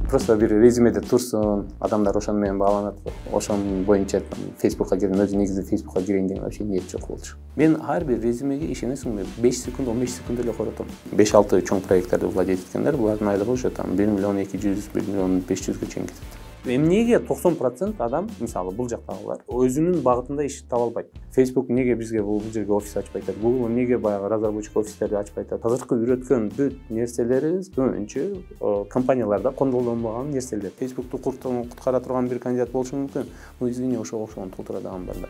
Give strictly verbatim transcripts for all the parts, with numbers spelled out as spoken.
просто бир резюмеде турсун, адамдар ошону менен бааланат, ошонун боюнча Facebookка кирген, өзү негизи Facebookка кирейин деген вообще ниет жок болчу. Мен ар бир резюмеге ишенесиңби, беш секунд, он беш секунд эле коротом. беш алты чоң проекттерди владеть эткендер, булардын айлыгы уже там бир миллион эки жүз, бир миллион беш жүзгө чейин кетет. Эмнеге токсон процент адам, мисалы, бул жактагылар өзүнүн багытында иш таба албайт? Facebook неге бизге бул жерге офис ачпай атат? Google неге баягы разработчик офистерди ачпай атат? Азыркы үйрөткөн бүт нерселерибиз көбүнчө компанияларда колдонулбаган нерселер. Facebook'ту куткара турган бир кандидат болушу мүмкүн. Ну, извини, ошого окшогон толтура дагы бар да.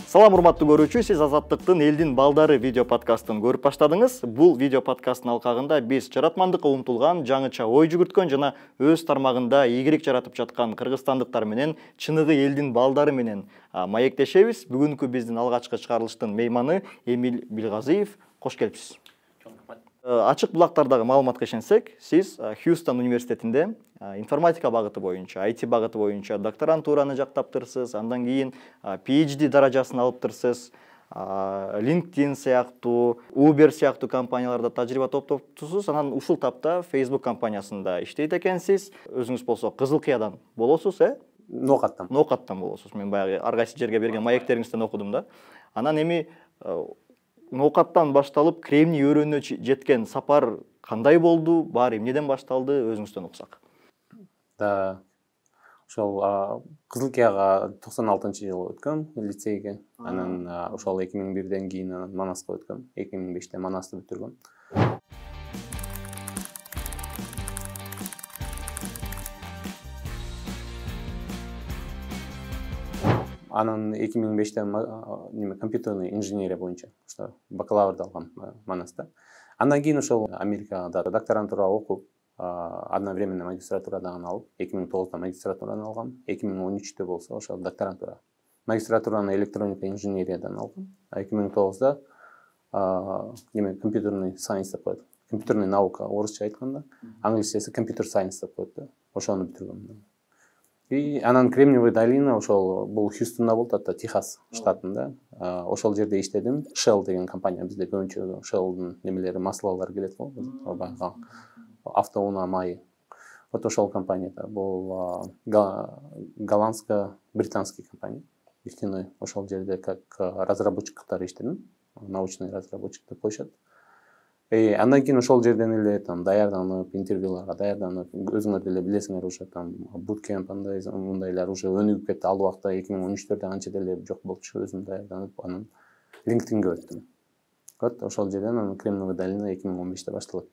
Салам, урматтуу көрүүчү, сиз Азаттыктын элдин балдары видео подкастын көрүп баштадыңыз. Бул видео подкасттын алкагында биз жаратмандыкка умтулган, жаңыча ой жүгүрткөн жана өз тармагында ийгилик жаратып жаткан кыргызстандыктар менен чыныгы элдин балдары менен маектешебиз. Бүгүнкү биздин алгачкы чыгарылыштын мейманы Эмиль Билгазиев. Кош келипсиз. Ачык булактардагы маалыматка ишенсек, сиз Хьюстон университетинде информатика багыты боюнча, ай ти багыты боюнча докторантураны жактаптырсыз, андан кийин пи эйч ди даражасын алыптырсыз, LinkedIn сыяктуу, Uber сыяктуу компанияларда тажрыйба топтоптусуз, анан ушул тапта Facebook компаниясында иштейт экенсиз. Өзүңүз болсо Кызыл Кыядан болосуз, э? Ноокаттан. Ноокаттан болосуз. Мен баягы ар кайсы жерге берген маектериңизден окудум да. Анан эми Ноокаттан башталып Кремний өрөөнүнө жеткен сапар кандай болду? Баары эмнеден башталды? Өзүңүздөн уксак. Да, ошол Кызыл Кыяга токсон алтынчы жылы өткөм лицейге. Анан ошол эки миң бирден кийин Манаска өткөм. эки миң беште Манасты бүтүргөм. Анан эки миң беште неме компьютерный инженерия боюнча ошо бакалаврды алгам Манаста. Андан кийин ошол Америкада докторантура окуп, одновременно магистратура дагы алып, эки миң тогузда магистратураны алгам. эки миң он үчтө болсо ошол докторантура. Магистратураны электроника инженериядан алгам. эки миң тогузда неме компьютерный сайенс деп коет. Компьютерный наука орусча айтканда, англисчеси computer science деп коет да. Ошону бүтүргөм. И анан Кремниевая долина ошол бул Хьюстонда болуп атат, Техас штатында. Ошол жерде иштедим. Shell деген компания, бизде көбүнчө Shell'дун немелери, маслалары келет го, баягы автоунаа майы. Вот ошол компанияда бул голландско-британский компания. Нефтяной ошол жерде как разработчик катары иштедим. Научный разработчик деп коюшат. И андан кийин ошол жерден эле там даярданып, интервьюларга даярданып, өзүңөр деле билесиңер, уже там буткемп андай мындайлар уже өнүгүп кетти. Ал убакта эки миң он үчтөрдө анча деле жок болчу, өзүм даярданып, анан LinkedInге өттүм. Вот ошол жерден анан Кремниевая долина эки миң он беште башталат.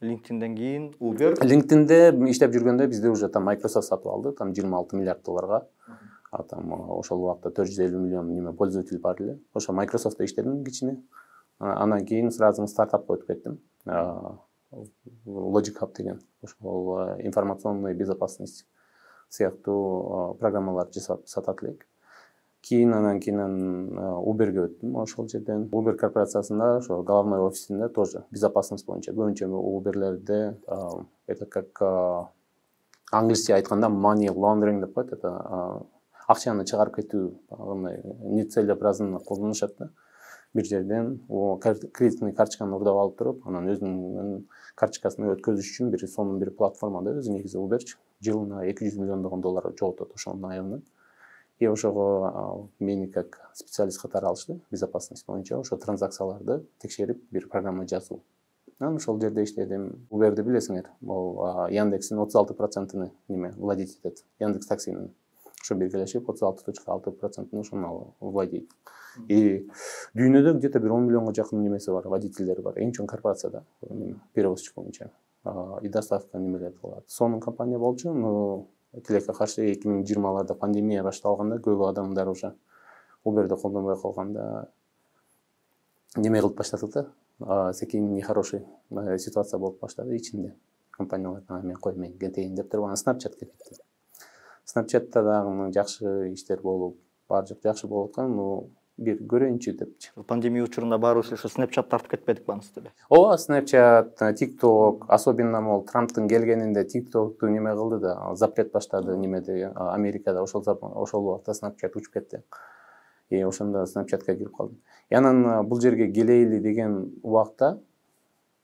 LinkedIndен кийин Uber. LinkedInде иштеп жүргөндө бизде уже там Microsoft сатып алды, там жыйырма алты миллиард долларга. А там ошол убакта төрт жүз элүү миллион неме пользователь бар эле. Ошо Microsoft'та иштедим кичине. Анан кийин сразу стартапка өтүп кеттим. Logic Hub деген ошол информационный безопасность сыяктуу программаларды жасап сатат элек. Кийин анан кийин Uberге өттүм. Ошол жерден Uber корпорациясында ошо головной офисинде тоже безопасность боюнча көбүнчө Uber'лерде это как англисче айтканда money laundering деп коет. Это акчаны чыгарып кетүү, андай нецелесообразно колдонушат да. Бир жерден кредитный карточканы урдап алып туруп, анан өзүнүн карточкасын өткөзүш үчүн бир сонун бир платформада өзү негизи Uber жылына эки жүз миллиондогон доллар жоготот ошонун айынан. И ошого мени как специалист катары алышты, безопасность боюнча ошо транзакцияларды текшерип бир программа жазуу. Анан ошол жерде иштедим. Uber'ди билесиңер, бул Яндекстин отуз алты процентini неме владеть этет. Яндекс таксинин ошо биргелешип отуз алты точка алты процентini ошону владеть. И дүйнөдө где-то бир он миллионго жакын немеси бар, водительдери бар. Эң чоң корпорация да, перевозчик боюнча. И доставка немелер кылат. Сонун компания болчу, но тилекке каршы эки миң жыйырмаларда пандемия башталганда көп адамдар уже Uber'ди колдонбой калганда неме кылып баштады да. Секин нехороший ситуация болуп баштады ичинде. Компаниялар мен кой мен кетейин деп туруп, анан Snapchat кетти. Snapchat'та дагы жакшы иштер болуп, бар жок жакшы болуп аткан, но бир көрөйүнчү депчи. Пандемия учурунда баарыбыз ушу Snapchat тартып кетпедик бааңызды эле. Ооба, Snapchat, TikTok, особенно мол Трамптын келгенинде TikTok'ту неме кылды да, запрет баштады немеде Америкада, ошол ошол убакта Snapchat учуп кетти. И ошондо Snapchat'ка кирип калдым. И анан бул жерге келейли деген убакта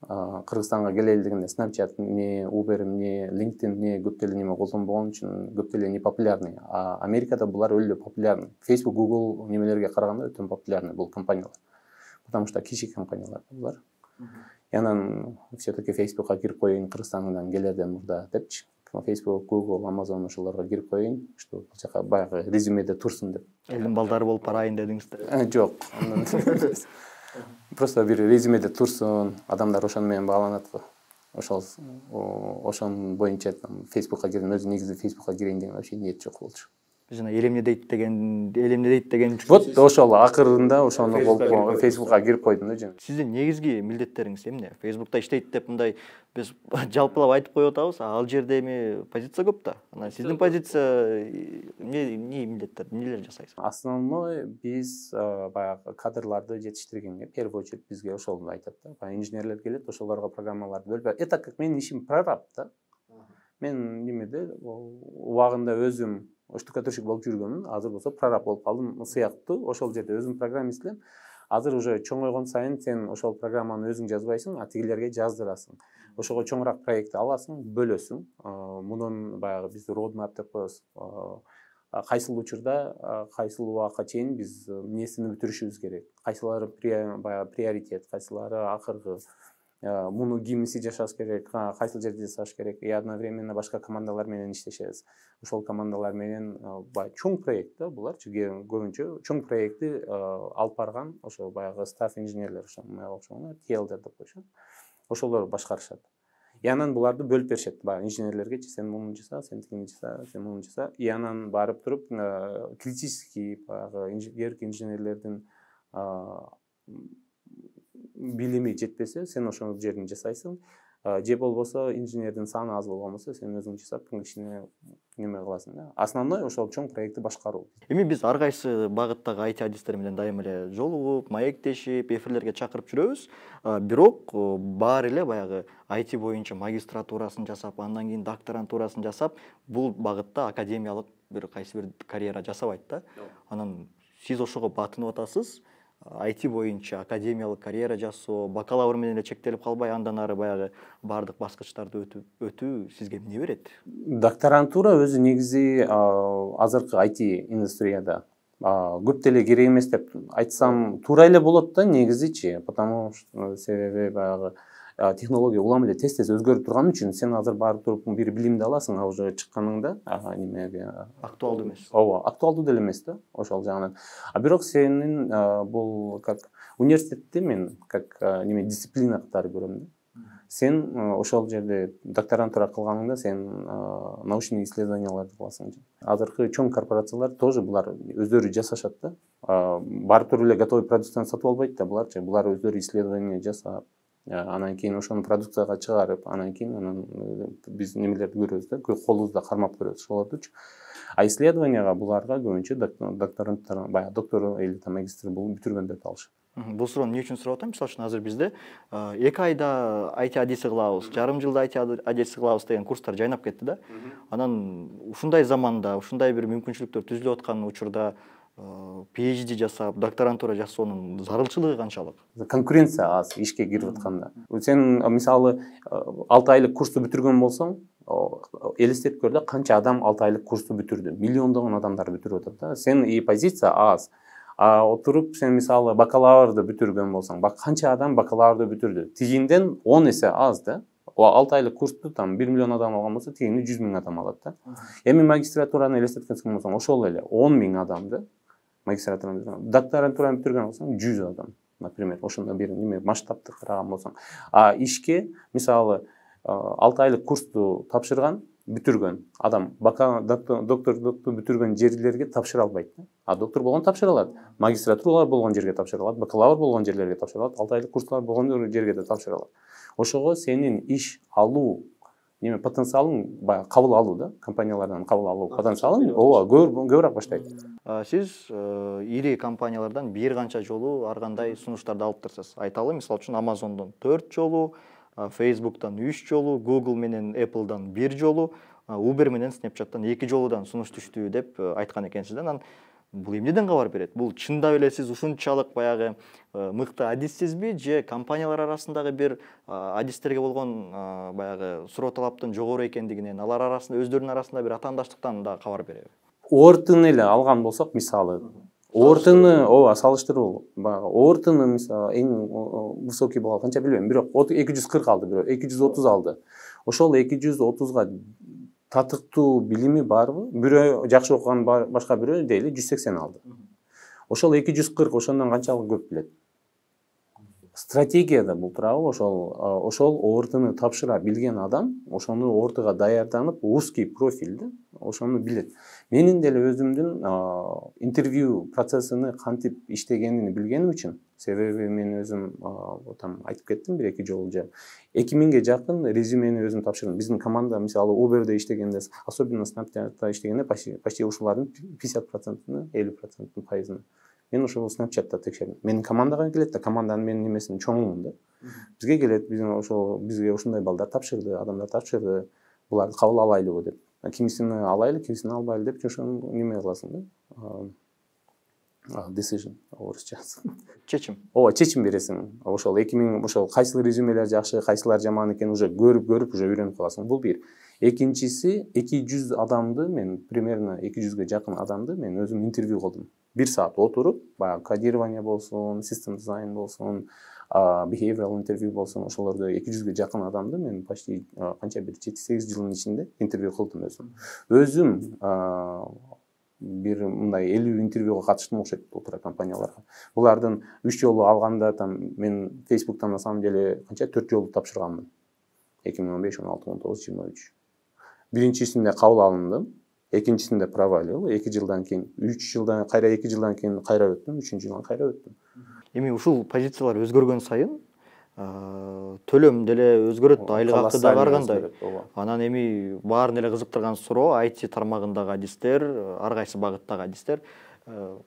Кыргызстанга келели дегенде Snapchat эмне, Uber эмне, LinkedIn эмне көп деле неме колдонбогон үчүн көп деле не популярный. А Америкада булар өлө популярный. Facebook, Google немелерге караганда өтө популярный бул компаниялар. Потому что кичи компаниялар булар. И анан все-таки Facebookка кирип коеюн Кыргызстандан келерден мурда депчи. Facebook, Google, Amazon ошолорго кирип коеюн, что бул жака баягы резюмеде турсун деп. Элдин балдары болуп барайын дедиңиз да? Жок. Просто бир резюмеде турсун, адамдар ошону менен бааланат го. Ошол ошонун боюнча Facebookка кирдим, өзү негизи Facebookка кирейин деген вообще ниет жок болчу. Жана элемне дейт деген, элемне дейт деген. Вот ошол акырында ошону болуп Facebookка кирип койдум да жана. Сиздин негизги милдеттериңиз эмне? Facebookта иштейт деп мындай биз жалпылап айтып коюп атабыз, ал жерде эми позиция көп да. Анан сиздин позиция эмне эмне милдеттер, эмнелер жасайсыз? Основной биз баягы кадрларды жетиштиргенге, в первую очередь бизге ошол айтат да. Баягы инженерлер келет, ошолорго программаларды бөлүп берет. Это как менин ишим прораб да. Мен немеде убагында өзүм штукатурщик болуп жүргөнмүн, азыр болсо прораб болуп калдым сыяктуу. Ошол жерде өзүм программист элем. Азыр уже чоңойгон сайын сен ошол программаны өзүң жазбайсың, а тигилерге жаздырасың. Ошого чоңураак проект аласың, бөлөсүң. Мунун баягы биз roadmap деп коебуз. Кайсыл учурда, кайсыл убакка чейин биз эмнесини бүтүрүшүбүз керек. Кайсылары баягы приоритет, кайсылары акыркы. Муну кимиси жашаш керек, кайсыл жерде жасаш керек. И одновременно башка командалар менен иштешебиз. Ошол командалар менен баягы чоң проект да буларчы, көбүнчө чоң проектти алып барган ошо баягы стаф инженерлер, ошону окшогон T L дер деп коюшат. Ошолор башкарышат. И анан буларды бөлүп беришет. Баягы инженерлерге сен муну жаса, сен тигини жаса, сен муну жаса. И анан барып туруп критический баягы инженерлик инженерлердин билими жетпесе, сен ошол жерин жасайсың. Же болбосо инженердин саны аз болгон болсо, сен өзүң жасап, кишине неме кыласың да. Основной ошол чоң проектти башкаруу. Эми биз ар кайсы багыттагы I T адистер менен дайыма эле жолугуп, маектешип, эфирлерге чакырып жүрөбүз. Бирок баары эле баягы I T боюнча магистратурасын жасап, андан кийин докторантурасын жасап, бул багытта академиялык бир кайсы бир карьера жасабайт да. Анан сиз ошого батынып атасыз. I T боюнча академиялык карьера жасоо, бакалавр менен эле чектелип калбай, андан ары баягы бардык баскычтарды өтүп өтүү сизге эмне берет? Докторантура өзү негизи азыркы I T индустрияда көп деле керек эмес деп айтсам туура эле болот да негизичи, потому что себеби баягы технология улам эле тез-тез өзгөрүп турган үчүн сен азыр барып туруп бир билимди аласың, а уже чыкканыңда немеге актуалдуу эмес. Ооба, актуалдуу деле эмес да, ошол жагынан. А бирок сенин бул как университетте мен как неме дисциплина катары көрөм да. Сен ошол жерде докторантура кылганыңда сен научный исследованияларды кыласың. Азыркы чоң корпорациялар тоже булар өздөрү жасашат да. Барып туруп эле готовый продукцияны сатып албайт да буларчы. Булар өздөрү исследование жасап, анан кийин ошону продукцияга чыгарып, анан кийин анан биз немелерди көрөбүз да, колубузда кармап көрөбүз ошолордучу. А исследованияга буларга көбүнчө докторанттар, баягы доктор или магистр болуп бүтүргөндөрдү алышат. Бул суроону эмне үчүн сурап атам? Мисалы үчүн азыр бизде эки айда I T адиси кылабыз, жарым жылда I T адиси кылабыз деген курстар жайнап кетти да. Анан ушундай заманда, ушундай бир мүмкүнчүлүктөр түзүлүп аткан учурда PhD жасап, докторантура жасоонун зарылчылыгы канчалык? Конкуренция аз ишке кирип атканда. Сен мисалы алты айлык курсту бүтүргөн болсоң, элестетип көр да, канча адам алты айлык курсту бүтүрдү. Миллиондогон адамдар бүтүрүп атат да. Сен и позиция аз. А отуруп сен мисалы бакалаврды бүтүргөн болсоң, бак канча адам бакалаврды бүтүрдү. Тигинден он эсе аз да. алты айлык курсту там бир миллион адам алган болсо, тигини жүз миң адам алат да. Эми магистратураны элестеткенсиң болсоң, ошол эле он миң адамды магистратураны бүтүргөн. Докторантураны бүтүргөн болсоң жүз адам, например, ошондой бир неме масштабты караган болсоң. А ишке мисалы алты айлык курсту тапшырган, бүтүргөн адам доктордукту бүтүргөн жерлерге тапшыра албайт. А доктор болгон тапшыра алат. Магистратуралар болгон жерге тапшыра алат, бакалавр болгон жерлерге тапшыра алат, алты айлык курслар болгон жерге да тапшыра алат. Ошого сенин иш алуу неме потенциалың, баягы кабыл алуу да, компаниялардан кабыл алуу потенциалың ооба көбүрөөк баштайт. Сиз ири компаниялардан бир канча жолу ар кандай сунуштарды алыптырсыз. Айталы, мисалы үчүн Amazon'дон төрт жолу, Facebook'тан үч жолу, Google менен Apple'дан бир жолу, Uber менен Snapchat'тан эки жолудан сунуш түштү деп айткан экенсиз. Анан Бул эмнеден кабар берет? Бул чындап эле сиз ушунчалык баягы мыкты адиссизби же компаниялар арасындагы бир адистерге болгон баягы суроо талаптын жогору экендигинен, алар арасында өздөрүнүн арасында бир атаандаштыктан да кабар береби? Ортун эле алган болсок, мисалы, ортуну ооба салыштыруу, баягы ортуну мисалы эң высокий балл канча билбейм, бирок эки жүз кырк алды, бирок эки жүз отуз алды. Ошол эки жүз отузга татыктуу билими барбы? Бирөө жакшы окуган, башка бирөө дейли жүз сексен алды. Ошол эки жүз кырк ошондон канчалык көп билет? Стратегияда бул турабы, ошол ошол ортуну тапшыра билген адам, ошону ортуга даярданып, узкий профилде ошону билет. Менин деле өзүмдүн интервью процессini кантип иштегенин билгеним үчүн, себеби мен өзүм там айтып кеттим бир эки жолу же эки миңге жакын резюмени өзүм тапшырдым. Биздин команда мисалы Uber'де иштегенде, особенно Snapchat'та иштегенде почти почти ушулардын пятьдесят процентini, элүү проценттин пайызын мен ошол Snapchat'та текшердим. Менин командага келет да, команданын менин немесин чоңумун да. Бизге келет, биздин ошол бизге ушундай балдар тапшырды, адамдар тапшырды. Буларды кабыл алайлыбы деп. Кимисини алайлы, кимисини албайлы деп ошону неме кыласың да. Decision орусча. Чечим. Ооба, чечим бересиң. Ошол эки миң ошол кайсыл резюмелер жакшы, кайсылар жаман экенин уже көрүп көрүп уже үйрөнүп каласың. Бул бир. Экинчиси, эки жүз адамды мен примерно эки жүзгө жакын адамды мен өзүм интервью кылдым. бир саат отуруп, баягы кодирование болсун, system design болсун, behavioral интервью болсун, ошолордо эки жүзгө жакын адамды мен почти канча бир жети сегиз жылдын ичинде интервью кылдым өзүм. Өзүм бир мындай элүү интервьюга катыштым окшойт бул тура компанияларга. Булардын үч жолу алганда там мен Facebook'тан на самом деле канча төрт жолу тапшырганмын. эки миң он беш, он алты, он тогуз, жыйырма үч. Биринчисинде кабыл алындым, экинчисинде провалил, эки жылдан кийин, үч жылдан кайра эки жылдан кийин кайра өттүм, үчүнчү жылдан кайра өттүм. Эми ушул позициялар өзгөргөн сайын төлөм деле өзгөрөт, айлык акы да баргандай. Анан эми баарын эле кызыктырган суроо, ай ти тармагындагы адистер, ар кайсы багыттагы адистер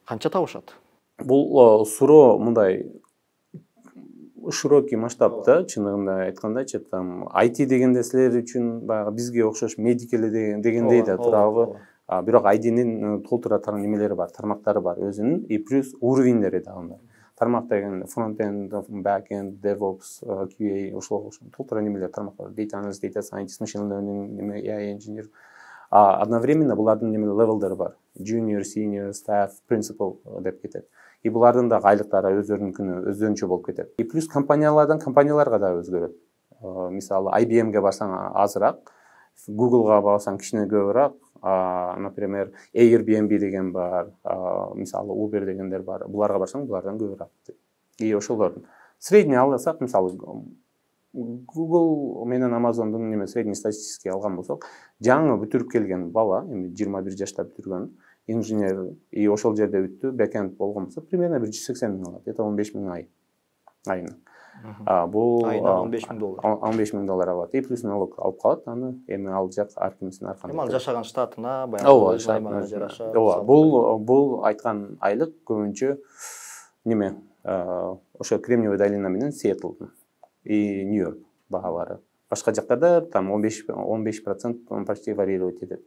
канча табышат? Бул суроо мындай широкий масштабта, чынында айткандачы, там ай ти дегенде силер үчүн баягы бизге окшош медик эле дегендей да турабы. Бирок ай тинин толтура тармак немелери бар, тармактары бар өзүнүн, и плюс уровеньдери да бар. Тармак деген front-end, back-end, DevOps, кью эй, ошол толтура немелер тармак бар. Data analyst, data scientist, machine learning, эй ай engineer. Одновременно булардын неме левелдери бар. Junior, senior, staff, principal деп кетет. И булардын да айлыктары өздөрүнүкүнө өздөрүнчө болуп кетет. И плюс компаниялардан компанияларга да өзгөрөт. Мисалы ай би эмге барсаң азыраак, Google'га барсаң кичине көбүрөөк, например, Airbnb деген бар, мисалы Uber дегендер бар. Буларга барсаң, булардан көбүрөөк. И ошолордун средний алсак, мисалы Google менен Amazon'дун неме средний статистический алган болсок, жаңы бүтүрүп келген бала, эми жыйырма бир жашта бүтүргөн инженер, и ошол жерде бүттү, бэкенд болгон болсо, примерно бир жүз сексен миң алат, это он беш миң ай. Айына. Бул айына он беш миң доллар. он беш миң доллар алат. И плюс налог алып калат, аны эми ал жак ар кимдин аркасында. Эми ал жашаган штатына, баягы аймагына жараша. Ооба, бул бул айткан айлык көбүнчө неме, ошо Кремниевая долина менен Сиэтлдын и Нью-Йорк баалары. Башка жактарда там он беш процент почти варьировать этет.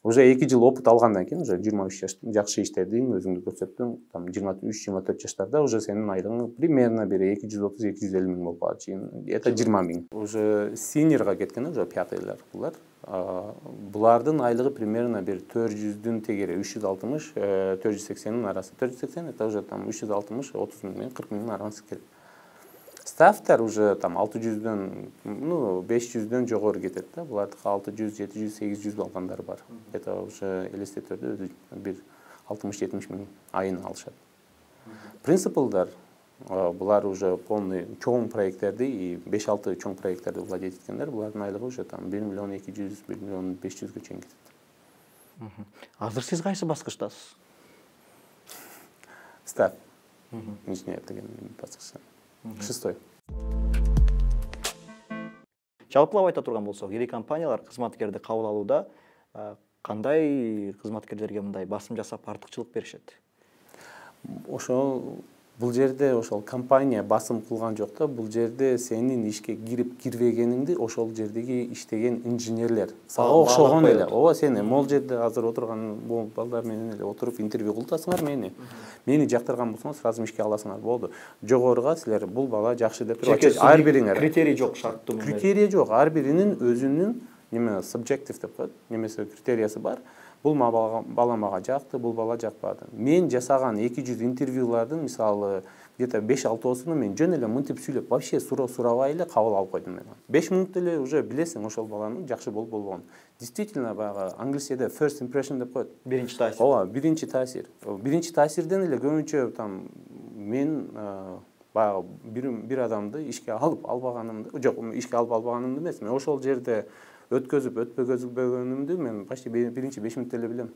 Уже эки жыл опыт алгандан кийин, уже жыйырма үч жаш жакшы иштедиң, өзүңдү көрсөттүң, там жыйырма үч жыйырма төрт жаштарда уже сенин айлыгың примерно бир эки жүз отуз эки жүз элүү миң болуп калат. Это жыйырма миң. Уже синьорга кеткен, уже пятыйлар булар. Булардын айлыгы примерно бир төрт жүздүн тегери үч жүз алтымыш, төрт жүз сексендин арасы. төрт жүз сексен это уже там үч жүз алтымыш, отуз миң менен кырк миңдин арасы келет. Стафтар уже там алты жүздөн, ну, беш жүздөн жогору кетет да. Булардыкы алты жүз, жети жүз, сегиз жүз алгандар бар. Это уже элестетөрдө бир алтымыш жетимиш миң айына алышат. Принципалдар, булар уже полный чоң проекттерди и беш алты чоң проекттерди владеть эткендер, булардын айлыгы уже там бир миллион эки жүз, бир миллион беш жүзгө чейин кетет. Азыр сиз кайсы баскычтасыз? Стаф. Инженер деген баскычта. Шестой. Жалпылап айта турган болсок, ири компаниялар кызматкерди кабыл алууда кандай кызматкерлерге мындай басым жасап артыкчылык беришет? Ошол бул жерде ошол компания басым кылган жок да, бул жерде сенин ишке кирип кирбегениңди ошол жердеги иштеген инженерлер сага окшогон эле. Ооба, сен могул жерде азыр отурган бул балдар менен эле отуруп интервью кылтасыңар мени. Мени жактырган болсоңор сразу ишке аласыңар, болду. Жогоруга силер бул бала жакшы деп ар бириңер. Критерий жок, шарттуу. Критерий жок, ар биринин өзүнүн неме subjective деп коет, немесе критериясы бар. Бул бала мага жакты, бул бала жакпады. Мен жасаган эки жүз интервьюлардын мисалы где-то беш алтысын мен жөн эле мынтип сүйлөп, вообще суроо сурабай эле кабыл алып койдум мен. беш мүнөттө эле уже билесиң ошол баланын жакшы болуп болбогонун. Действительно, баягы англисчеде first impression деп коет. Биринчи таасир. Ооба, биринчи таасир. Биринчи таасирден эле көбүнчө там мен баягы бир бир адамды ишке алып албаганымды, жок, ишке алып албаганымды эмес, мен ошол жерде өткөзүп өтпөгөнүмдү мен почти биринчи беш мүнөттө эле билем.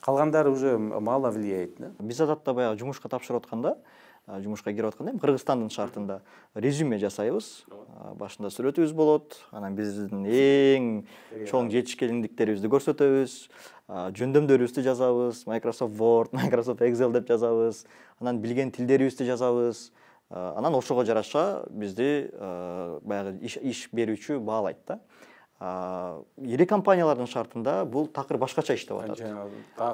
Калгандары уже мало влияет да. Биз адатта баягы жумушка тапшырып атканда, жумушка кирип атканда эми Кыргызстандын шартында резюме жасайбыз. Башында сүрөтүбүз болот, анан биздин эң чоң жетишкендиктерибизди көрсөтөбүз, жөндөмдөрүбүздү жазабыз, Microsoft Word, Microsoft Excel деп жазабыз, анан билген тилдерибизди жазабыз. Анан ошого жараша бизди баягы иш берүүчү баалайт да. Ири компаниялардын шартында бул такыр башкача иштеп атат.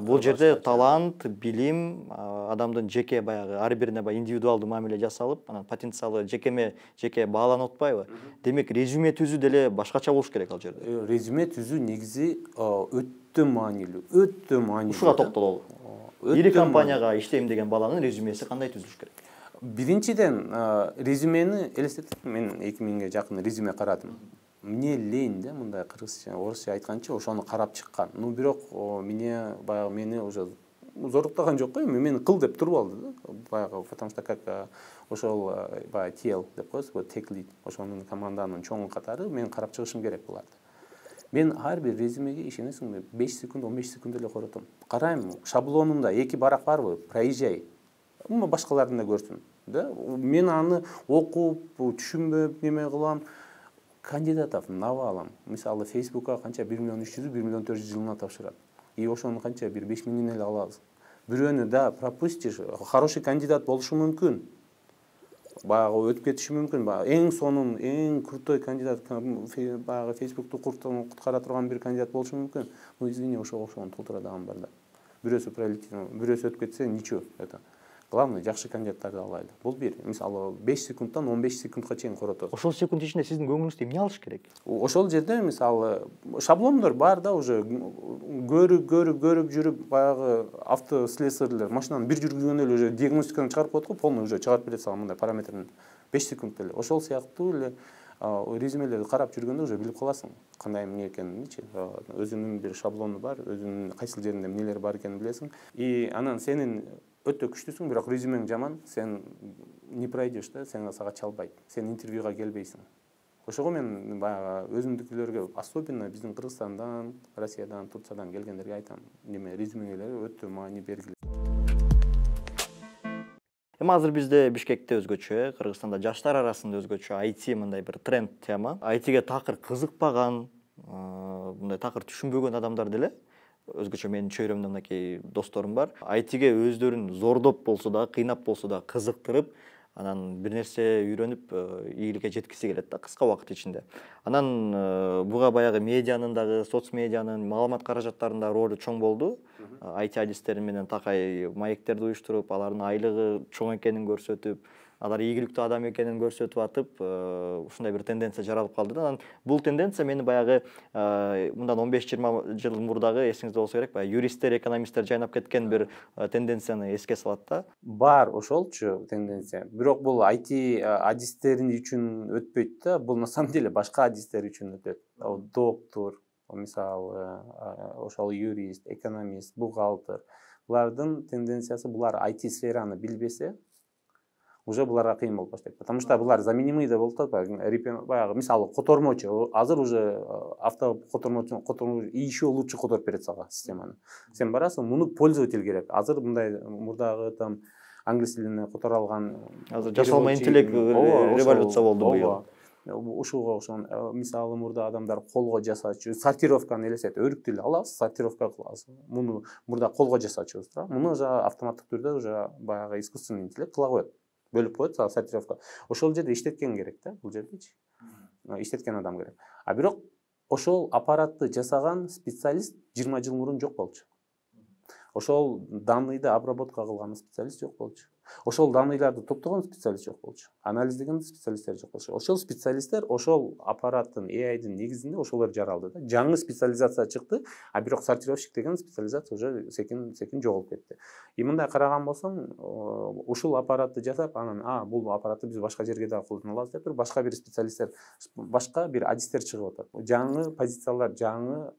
Бул жерде талант, билим, адамдын жеке баягы ар бирине баягы индивидуалдуу мамиле жасалып, анан потенциалы жекеме жеке бааланып атпайбы? Демек, резюме түзүү деле башкача болуш керек ал жерде. Резюме түзүү негизи өтө маанилүү, өтө маанилүү. Ушуга токтололу. Ири компанияга иштейм деген баланын резюмеси кандай түзүлүш керек? Биринчиден, резюмени элестетип, мен эки миңге жакын резюме карадым. Мне лень да, мындай кыргызча, орусча айтканча ошону карап чыккан. Ну бирок мене баягы мени уже зоруктаган жок го, мени кыл деп туруп алды да. Баягы, потому что как ошол баягы ти эл деп коебуз, tech lead, ошонун команданын чоң катары мен карап чыгышым керек буларды. Мен ар бир резюмеге ишенесиңби, беш секунд, он беш секунд эле коротом. Карайм, шаблонунда эки барак барбы, проезжай. Ума башкалардын да көрсүн, да? Мен аны окуп, түшүнбөп, неме кылам. Кандидатов навалам. Мисалы, Facebook'a канча bir milyon üç yüz, bir milyon dört yüz жылына тапшырат. И ошону канча бир беш миңден эле алабыз. Бирөөнү да пропустишь, хороший кандидат болушу мүмкүн. Баягы өтүп кетиши мүмкүн. Эң сонун, эң крутой кандидат, баягы Facebook'ту куткара турган бир кандидат болушу мүмкүн. Ну извини, ошого окшогон толтура даган бар да. Бирөөсү пролетел, бирөөсү өтүп кетсе, ничего, это. Главное, жакшы кандидаттарды алайлы. Бул бир. Мисалы, беш секундтан он беш секундка чейин коротосуз. Ошол секунд ичинде сиздин көңүлүңүздө эмне алыш керек? Ошол жерде мисалы шаблондор бар да, уже көрүп, көрүп, көрүп жүрүп, баягы автослесарьлер машинаны бир жүргүзгөндө эле уже диагностиканы чыгарып коет го, полный уже чыгарып берет сага мындай параметрин беш секунд эле. Ошол сыяктуу эле резюмелерди карап жүргөндө уже билип каласың кандай эмне экенинчи. Өзүнүн бир шаблону бар, өзүнүн кайсыл жеринде эмнелер бар экенин билесиң. И анан сенин өтө күчтүүсүң, бирок резюмең жаман, сен не пройдешь да, сен сага чалбайт. Сен интервьюга келбейсиң. Ошого мен баягы өзүмдүкүлөргө, особенно биздин Кыргызстандан, Россиядан, Турциядан келгендерге айтам, неме резюмелери өтө маани бергиле. Эми азыр бизде Бишкекте өзгөчө, Кыргызстанда жаштар арасында өзгөчө ай ти мындай бир тренд тема. ай тиге такыр кызыкпаган, мындай такыр түшүнбөгөн адамдар деле, өзгөчө менин чөйрөмдө мынакей досторум бар. ай тиге өздөрүн зордоп болсо да, кыйнап болсо да кызыктырып, анан бир нерсе үйрөнүп, ийгиликке жеткиси келет да кыска убакыт ичинде. Анан буга баягы медианын дагы, соц медианын, маалымат каражаттарынын да ролу чоң болду. ай ти адистери менен такай маектерди уюштуруп, алардын айлыгы чоң экенин көрсөтүп, алар ийгиликтүү адам экенин көрсөтүп атып, ушундай бир тенденция жаралып калды да. Анан бул тенденция мени баягы мындан он беш жыйырма жыл мурдагы, эсиңизде болсо керек, баягы юристтер, экономисттер жайнап кеткен бир тенденцияны эске салат да. Бар ошолчу тенденция. Бирок бул ай ти адистери үчүн өтпөйт да, бул на самом деле башка адистер үчүн өтөт. Доктор, мисалы, ошол юрист, экономист, бухгалтер. Булардын тенденциясы, булар ай ти сфераны билбесе, уже буларга кыйын болуп баштайт. Потому что булар заменимый да болуп атат. Баягы мисалы котормочу, азыр уже авто котормочу, котормочу еще лучше которуп берет сага системаны. Сен барасың, муну пользователь керек. Азыр мындай мурдагы там англис тилине которо алган, азыр жасалма интеллект революция болду быйыл. ушуга окшогон мисалы мурда адамдар колго жасачу сортировканы элестет, өрүктү эле алабыз, сортировка кылабыз. Муну мурда колго жасачубуз туурабы. Муну уже автоматтык түрдө уже баягы искусственный интеллект кыла коет. Бөлүп коет сортировка. Ошол жерде иштеткен керек да, бул жердечи. Иштеткен адам керек. А бирок ошол аппаратты жасаган специалист жыйырма жыл мурун жок болчу. Ошол данныйды обработка кылган специалист жок болчу. Ошол данныйларды топтогон специалист жок болчу. Анализдеген специалисттер жок болчу. Ошол специалисттер ошол аппараттын эй ай-дын негизинде ошолор жаралды да. Жаңы специализация чыкты, а бирок сортировщик деген специализация уже секин секин жоголуп кетти. И мындай караган болсоң, ушул аппаратты жасап, анан а бул аппаратты биз башка жерге да колдоно алабыз деп туруп, башка бир специалисттер, башка бир адистер чыгып атат. Жаңы позициялар, жаңы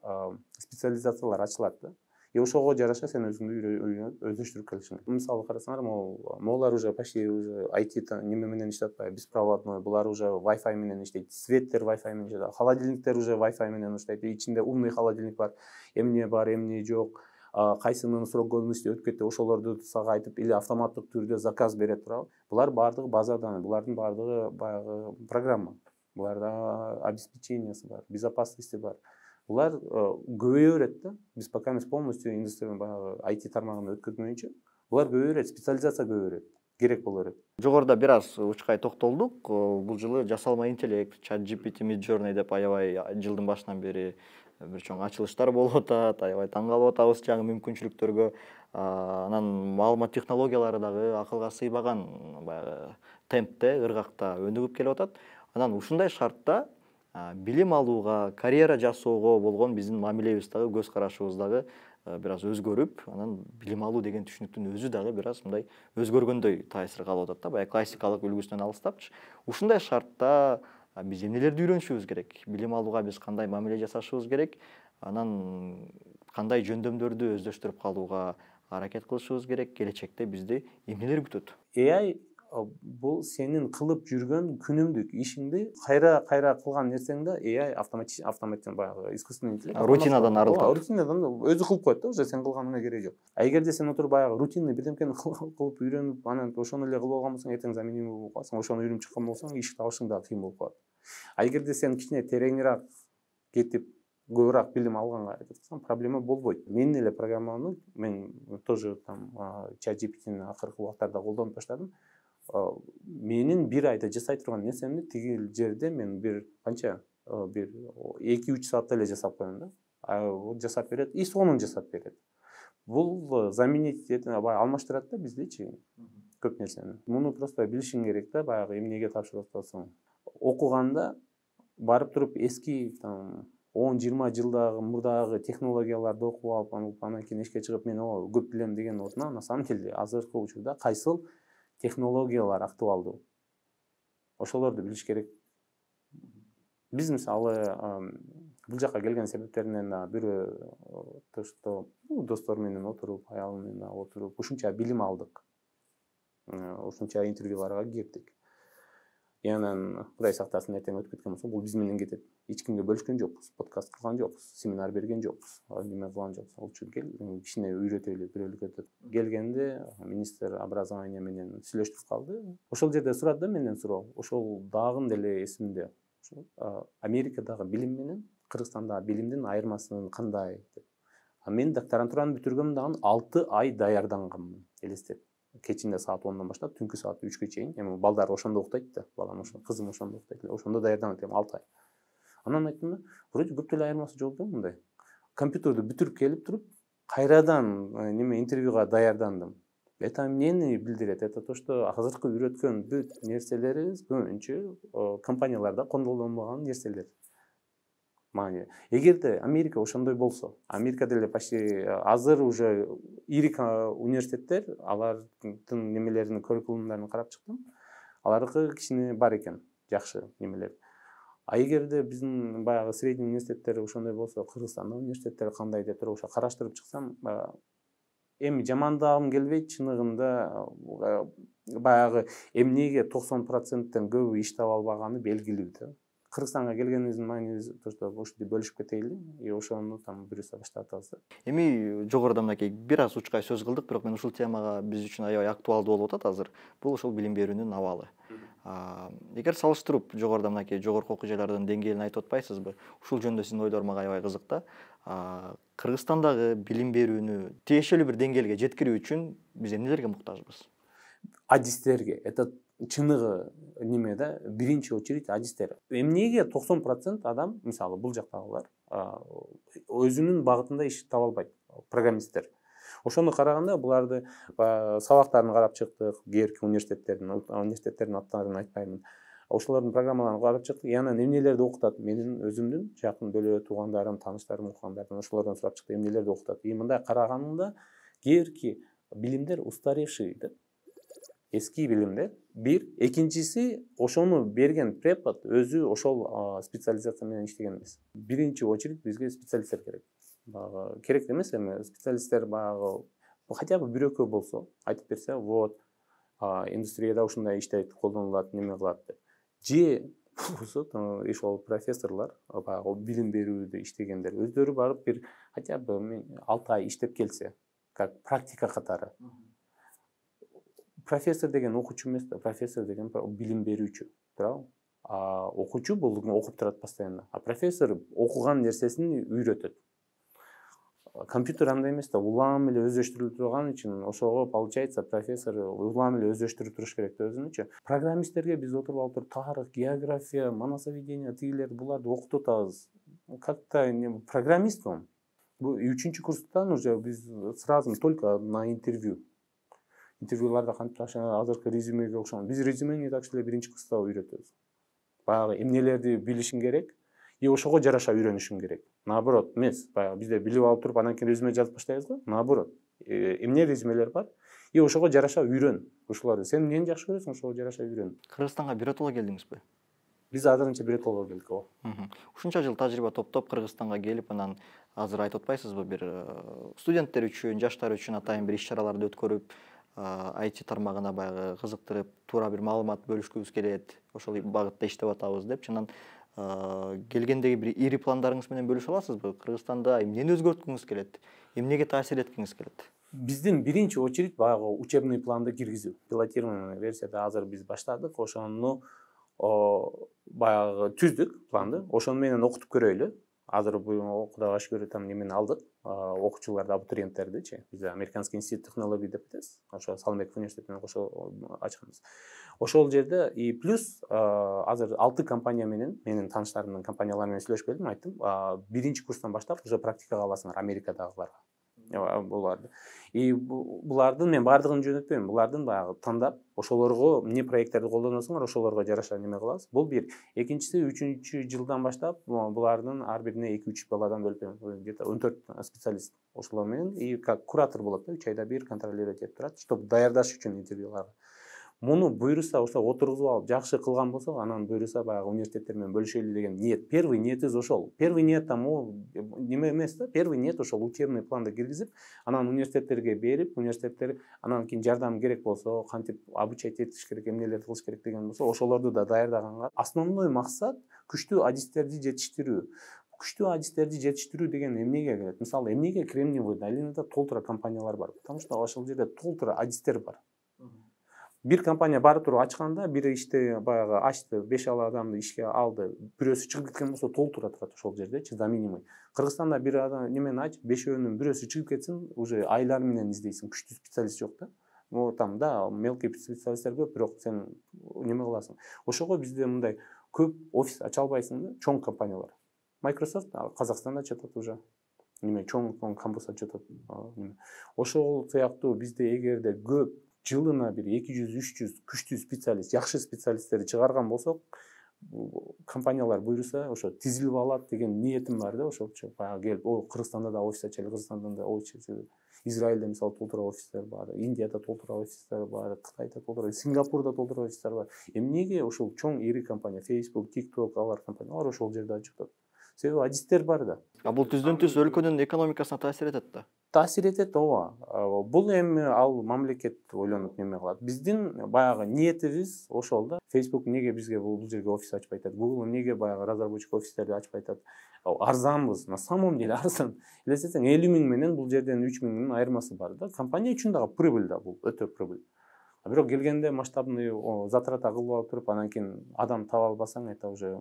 специализациялар ачылат да. И ошого жараша сен өзүңдү өздөштүрүп келишиң. Мисалы карасаңар, могу могулар уже почти уже ай ти неме менен иштеп атпайбы, беспроводной, булар уже Wi-Fi менен иштейт, светтер Wi-Fi менен иштейт, холодильниктер уже Wi-Fi менен иштейт. Ичинде умный холодильник бар, эмне бар, эмне жок, кайсынын срок годности өтүп кетти, ошолорду сага айтып, или автоматтык түрдө заказ берет турабы. Булар баардыгы базадан, булардын баардыгы баягы программа. Буларда обеспечениясы бар, безопасности бар. Булар көбөйө берет да. Биз пока эмес полностью индустрия баягы ай ти тармагына өткөзмөйүнчө, булар көбөйө берет, специализация көбөйө берет, керек боло берет. Жогоруда бир аз учкай токтолдук. Бул жылы жасалма интеллект, чат джи пи ти, Midjourney деп аябай жылдын башынан бери бир чоң ачылыштар болуп атат, аябай таң калып атабыз жаңы мүмкүнчүлүктөргө. Анан маалымат технологиялары дагы акылга сыйбаган баягы темпте, ыргакта өнүгүп келип атат. Анан ушундай шартта билим алууга, карьера жасоого болгон биздин мамилебиз дагы, көз карашыбыз дагы бир аз өзгөрүп, анан билим алуу деген түшүнүктүн өзү дагы бир аз мындай өзгөргөндөй таасир калып атат да, баягы классикалык үлгүсүнөн алыстапчы. Ушундай шартта биз эмнелерди үйрөнүшүбүз керек? Билим алууга биз кандай мамиле жасашыбыз керек? Анан кандай жөндөмдөрдү өздөштүрүп калууга аракет кылышыбыз керек? Келечекте бизди эмнелер күтөт? эй ай бул сенин кылып жүргөн күнүмдүк ишиңди кайра кайра кылган нерсеңди эй ай автоматически автоматтан баягы искусственный интеллект рутинадан арылтат. Рутинадан өзү кылып коет да, уже сен кылганыңа кереги жок. А эгерде сен отуруп баягы рутинный бирдемкени кылып үйрөнүп, анан ошону эле кылып алган болсоң, эртең заменимый болуп каласың. Ошону үйрөнүп чыккан болсоң, иш табышың дагы кыйын болуп калат. А эгерде сен кичине тереңирээк кетип, көбүрөөк билим алганга аракет кылсаң, проблема болбойт. Мен эле программаны мен тоже там чат джи пи тини акыркы убактарда колдонуп баштадым. Менин бир айда жасай турган нерсемди тиги жерде мен бир канча бир эки үч саатта эле жасап коем да. А жасап берет, и сонун жасап берет. Бул заменить алмаштырат да биздичи көп нерсени. Муну просто билишиң керек да, баягы эмнеге тапшырып атасың. Окуганда барып туруп эски там он жыйырма жылдагы мурдагы технологияларды окуп алып, анан кийин эшикке чыгып мен о көп билем деген ордуна, на самом деле азыркы учурда кайсыл технологиялар актуалдуу, ошолорду билиш керек. Биз мисалы бул жака келген себептеринен бирөө то что достор менен отуруп, аялым менен отуруп ушунча билим алдык. Ушунча интервьюларга кирдик. И анан Кудай сактасын, эртең өтүп кеткен болсо, бул биз менен кетет. Эч кимге бөлүшкөн жокпуз, подкаст кылган жокпуз, семинар берген жокпуз, неме кылган жокпуз. Ал үчүн кел, кичине үйрөтөлү, бирөөлүк өтөт. Келгенде министр образования менен сүйлөштүрүп калды. Ошол жерде сурады да менден суроо. Ошол дагы деле эсимде. Америкадагы билим менен Кыргызстандагы билимдин айырмасы кандай деп. А мен докторантураны бүтүргөм дагы алты ай даярданганмын, элестет. Кечинде саат ондон баштап, түнкү саат үчкө чейин. Эми балдар ошондо уктайт да, балам ошондо, кызым ошондо уктайт эле. Ошондо даярданат эми алты ай. Анан айттым да, вроде көп деле айырмасы жок да мындай. Компьютерди бүтүрүп келип туруп, кайрадан неме интервьюга даярдандым. Это эмнени билдирет? Это то, что азыркы үйрөткөн бүт нерселерибиз көбүнчө компанияларда колдонулбаган нерселер. Мани. Эгерде Америка ошондой болсо, Америкада эле почти азыр уже ири университеттер, алардын немелерин, curriculumдарын карап чыктым. Алардыкы кичине бар экен, жакшы немелер. А эгерде биздин баягы средний университеттер ошондой болсо, Кыргызстандын университеттери кандай деп туруп ошо караштырып чыксам, эми жамандагым келбейт, чыныгында баягы эмнеге токсон проценттен көбү иш таба албаганы белгилүү да. Кыргызстанга келгенибиздин мааниси то, что ошентип бөлүшүп кетейли, и ошону там бирөөсү баштап атабыз да. Эми жогоруда мынакей бир аз учкай сөз кылдык, бирок мен ушул темага биз үчүн аябай актуалдуу болуп атат азыр. Бул ошол билим берүүнүн абалы. Эгер салыштырып жогоруда мынакей жогорку окуу жайлардын деңгээлин айтып атпайсызбы? Ушул жөнүндө сиздин ойлор мага аябай кызык да. Кыргызстандагы билим берүүнү тиешелүү бир деңгээлге жеткирүү үчүн биз эмнелерге муктажбыз? Адистерге. Это чыныгы неме да, биринчи очередь адистер. Эмнеге токсон процент адам, мисалы, бул жактагылар өзүнүн багытында иш таба албайт, программисттер. Ошону караганда буларды сабактарын карап чыктык, кээерки университеттердин университеттердин аттарын айтпаймын. Ошолордун программаларын карап чыктык. Яна эмнелерди окутат? Менин өзүмдүн жакын бөлө туугандарым, тааныштарым окугандардан ошолордон сурап чыктым, эмнелерди окутат. И мындай караганымда кээерки билимдер устаревший деп. Эски билимдер. Бир, экинчиси ошону берген препод өзү ошол специализация менен иштеген эмес. Биринчи очередь бизге специалисттер керек. Багы керек эмес эми специалисттер багы хотя бы бир экөө болсо айтып берсе, вот индустрияда ушундай иштейт, колдонулат, неме кылат деп. Же болсо ошол профессорлор багы билим берүүдө иштегендер өздөрү барып бир хотя бы алты ай иштеп келсе, как практика катары. Профессор деген окуучу эмес да, профессор деген билим берүүчү, туурабы? А окуучу бул окуп турат постоянно. А профессор окуган нерсесин үйрөтөт. Компьютер андай эмес да, улам эле өздөштүрүлүп турган үчүн ошого получается профессор улам эле өздөштүрүп туруш керек да өзүнүчү. Программисттерге биз отуруп алып туруп тарых, география, манасоведение, тигилерди буларды окутуп атабыз. Как-то программист он. Бул үчүнчү курстан уже биз сразу только на интервью. Интервьюларда кантип азыркы резюмеге окшогон. Биз резюмени так эле биринчи курста үйрөтөбүз. Баягы эмнелерди билишиң керек, и ошого жараша үйрөнүшүң керек. Наоборот эмес, баягы бизде билип алып туруп анан кийин резюме жазып баштайбыз го. Наоборот. Эмне резюмелер бар? И ошого жараша үйрөн. Ушуларды сен эмнени жакшы көрөсүң, ошого жараша үйрөн. Кыргызстанга биротоло келдиңизби? Биз азырынча биротоло келдик го. Ушунча жыл тажрыйба топтоп Кыргызстанга келип, анан азыр айтып атпайсызбы, бир студенттер үчүн, жаштар үчүн атайын бир иш-чараларды өткөрүп, ай ти тармагына баягы кызыктырып, туура бир маалымат бөлүшкүбүз келет, ошол багытта иштеп атабыз деп. Чынан келгендеги бир ири пландарыңыз менен бөлүшө аласызбы? Кыргызстанда эмнени өзгөрткүңүз келет? Эмнеге таасир эткиңиз келет? Биздин биринчи очередь баягы учебный планды киргизүү. Пилотированный версияда азыр биз баштадык. Ошону баягы түздүк планды. Ошону менен окутуп көрөйлү. Азыр бул Кудайга шүгүр там немени алдык. Окуучуларды, абитуриенттердичи. Биз Американский институт технологий деп атабыз. Ошо Салымбеков университетинен кошо ачканбыз. Ошол жерде и плюс азыр алты компания менен, менин тааныштарымдын компаниялары менен сүйлөшүп келдим, айттым, биринчи курстан баштап уже практикага аласыңар Америкадагыларга. Буларды. И булардын мен бардыгын жөнөтпөйм. Булардын баягы тандап, ошолорго эмне проекттерди колдоносуңар, ошолорго жараша неме кылабыз. Бул бир. Экинчиси, үчүнчү жылдан баштап булардын ар бирине эки үч баладан бөлүп, где-то он төрт специалист ошолор менен и как куратор болот да, үч айда бир контролировать этип турат, чтобы даярдаш үчүн интервьюларга. Муну буйруса, ошо отургузуп алып жакшы кылган болсок, анан буйруса баягы университеттер менен бөлүшөлү деген ниет. Первый ниетибиз ошол. Первый ниет там неме эмес да, первый ниет ошол учебный планды киргизип, анан университеттерге берип, университеттер анан кийин жардам керек болсо, кантип обучать этиш керек, эмнелерди кылыш керек деген болсо, ошолорду да даярдаганга. Основной максат күчтүү адистерди жетиштирүү. Күчтүү адистерди жетиштирүү деген эмнеге келет? Мисалы, эмнеге Кремниевый долинада толтура компаниялар бар? Потому что ошол жерде толтура адистер бар. Бир компания барып туруп ачканда, бир иште баягы ачты, беш алты адамды ишке алды, бирөөсү чыгып кеткен болсо толтура турат ошол жердечи, за минимум. Кыргызстанда бир адам немени ачып, бешөөнүн бирөөсү чыгып кетсин, уже айлар менен издейсиң, күчтүү специалист жок да. Ну там да, мелкий специалисттер көп, бирок сен неме кыласың. Ошого бизде мындай көп офис ача албайсың да, чоң компаниялар. Microsoft Казакстанда ачатат уже. Неме чоң кампус ачатат. Ошол сыяктуу бизде эгерде көп жылына бир эки жүз үч жүз күчтүү специалист, жакшы специалисттерди чыгарган болсок, компаниялар буйруса ошо тизилип алат деген ниетим бар да, ошолчу баягы келип, о Кыргызстанда да офис ачайлы, Кыргызстанда да офис ачайлы. Израилде мисалы толтура офистер бар, Индияда толтура офистер бар, Кытайда толтура, Сингапурда толтура офистер бар. Эмнеге ошол чоң ири компания, Facebook, TikTok, алар компаниялар ошол жерде ачып атат? Себеби адистер бар да. А бул түздөн түз өлкөнүн экономикасына таасир этет да. Таасир этет, ооба. Бул эми ал мамлекет ойлонуп неме кылат. Биздин баягы ниетибиз ошол да. Facebook эмнеге бизге бул жерге офис ачпай атат? Google эмнеге баягы разработчик офистерди ачпай атат? Арзанбыз, на самом деле арзан. Элестетсең элүү миң менен бул жерден үч миңдин айырмасы бар да. Компания үчүн дагы прибыль да бул, өтө прибыль. Бирок келгенде масштабный затрат кылып алып туруп, анан кийин адам таба албасаң, это уже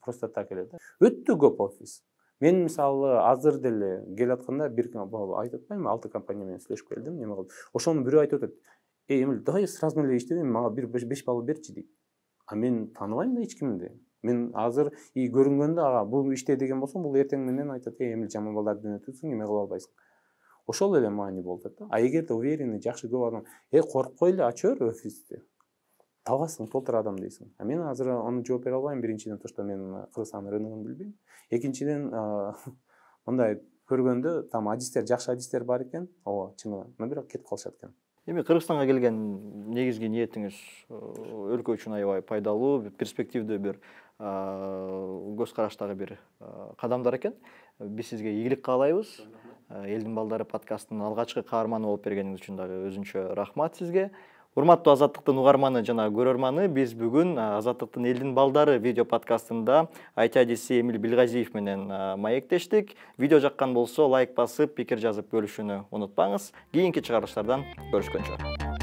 просто так эле да. Өтө көп офис. Мен мисалы азыр деле келатканда бир айтып атпаймынбы, алты компания менен сүйлөшүп келдим, неме кылып. Ошону бирөө айтып атат. Эй, Эмил, давай сразу эле иштебей, мага бир беш балл берчи дейт. А мен тааныбайм да эч кимди. Мен азыр и көрүнгөндө ага бул иште деген болсом, бул эртең менен айтат, эй, Эмил, жаман балдарды өнөтүпсүң, неме кыла албайсың. Ошол эле маани болуп атат да. А эгерде уверенный, жакшы көп адам, э, коркпой эле ачып бер офисти. Табасың, толтур адам дейсиң. А мен азыр аны жооп бере албайм. Биринчиден, то, что мен Кыргызстан рыногун билбейм. Экинчиден, мындай көргөндө там адистер, жакшы адистер бар экен. Ооба, чынында. Но бирок кетип калышат экен. Эми Кыргызстанга келген негизги ниетиңиз өлкө үчүн аябай пайдалуу, перспективдүү бир көз караштагы бир кадамдар экен. Биз сизге ийгилик каалайбыз. Элдин балдары подкастынын алгачкы каарманы болуп бергениңиз үчүн дагы өзүнчө рахмат сизге. Урматтуу Азаттыктын угарманы жана көрөрманы, биз бүгүн Азаттыктын Элдин балдары видео подкастында ай ти адиси Эмил Билгазиев менен маектештик. Видео жаккан болсо лайк басып, пикир жазып бөлүшүүнү унутпаңыз. Кийинки чыгарылыштардан көрүшкөнчө.